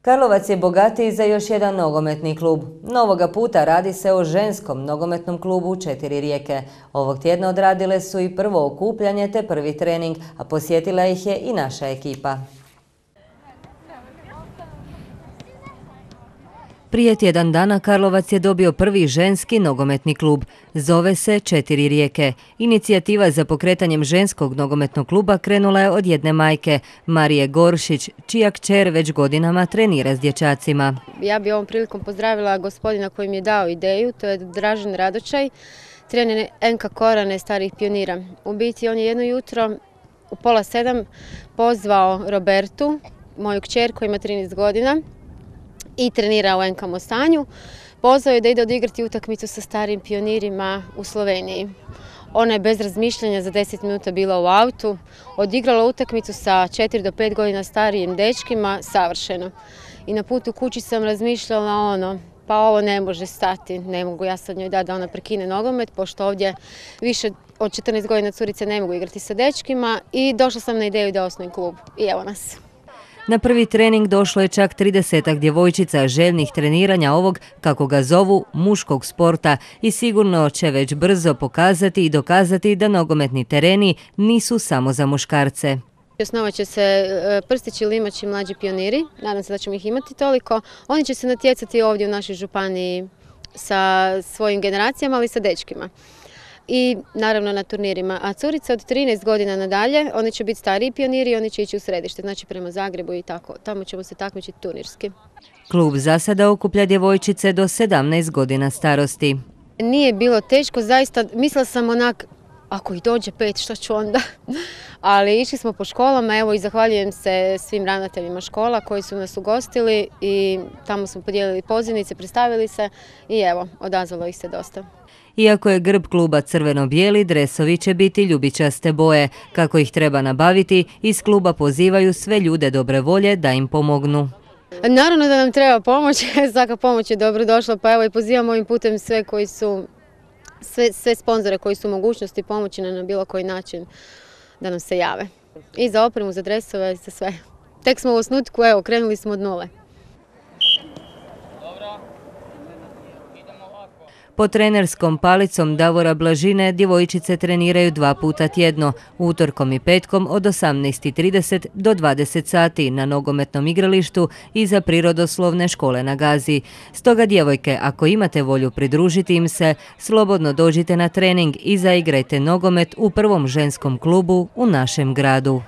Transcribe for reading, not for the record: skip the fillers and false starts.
Karlovac je bogatiji za još jedan nogometni klub. Novoga puta radi se o ženskom nogometnom klubu Četiri rijeke. Ovog tjedna odradile su i prvo okupljanje te prvi trening, a posjetila ih je i naša ekipa. Prije tjedan dana Karlovac je dobio prvi ženski nogometni klub. Zove se Četiri rijeke. Inicijativa za pokretanjem ženskog nogometnog kluba krenula je od jedne majke, Marije Goršić, čija kćer već godinama trenira s dječacima. Ja bi ovom prilikom pozdravila gospodina koji mi je dao ideju, to je Dražen Radočaj, trener NK Korane starih pionira. U biti on je jedno jutro u 6:30 pozvao Robertu, moju kćer koja ima 13 godina, i trenira u NK Mostanju. Pozvao je da ide odigrati utakmicu sa starim pionirima u Sloveniji. Ona je bez razmišljanja za 10 minuta bila u autu, odigrala utakmicu sa 4 do 5 godina starijim dečkima, savršeno. I na putu kući sam razmišljala pa ovo ne može stati, ne mogu ja sad njoj dati da ona prekine nogomet, pošto ovdje više od 14 godina curice ne mogu igrati sa dečkima, i došla sam na ideju da osnujem klub. I evo nas. Na prvi trening došlo je čak 30-ak djevojčica željnih treniranja ovog, kako ga zovu, muškog sporta, i sigurno će već brzo pokazati i dokazati da nogometni tereni nisu samo za muškarce. Osnovat će se Prstići, Limači, mlađi pioniri, nadam se da ćemo ih imati toliko. Oni će se natjecati ovdje u našoj županiji sa svojim generacijama, ali i sa dečkima. I naravno na turnirima. A curice od 13 godina nadalje, oni će biti stariji pioniri i oni će ići u središte, znači prema Zagrebu i tako. Tamo ćemo se takmičiti turnirski. Klub za sada okuplja djevojčice do 17 godina starosti. Nije bilo teško, zaista mislila sam ako ih dođe 5, što ću onda? Ali išli smo po školama, evo, i zahvaljujem se svim ravnateljima škola koji su nas ugostili i tamo smo podijelili pozivnice, predstavili se i evo, odazvalo ih se dosta. Iako je grb kluba crveno-bijeli, dresovi će biti ljubičaste boje. Kako ih treba nabaviti, iz kluba pozivaju sve ljude dobre volje da im pomognu. Naravno da nam treba pomoć, svaka pomoć je dobro došla, pa evo i pozivam ovim putem sve sponzore koji su u mogućnosti pomoći na bilo koji način da nam se jave. I za opremu, za dresove, za sve. Tek smo u osnutku, evo, krenuli smo od nule. Pod trenerskom palicom Davora Blažine djevojčice treniraju 2 puta tjedno, utorkom i petkom od 18:30 do 20 sati na nogometnom igralištu iza prirodoslovne škole na Gazi. Stoga djevojke, ako imate volju pridružiti im se, slobodno dođite na trening i zaigrajte nogomet u prvom ženskom klubu u našem gradu.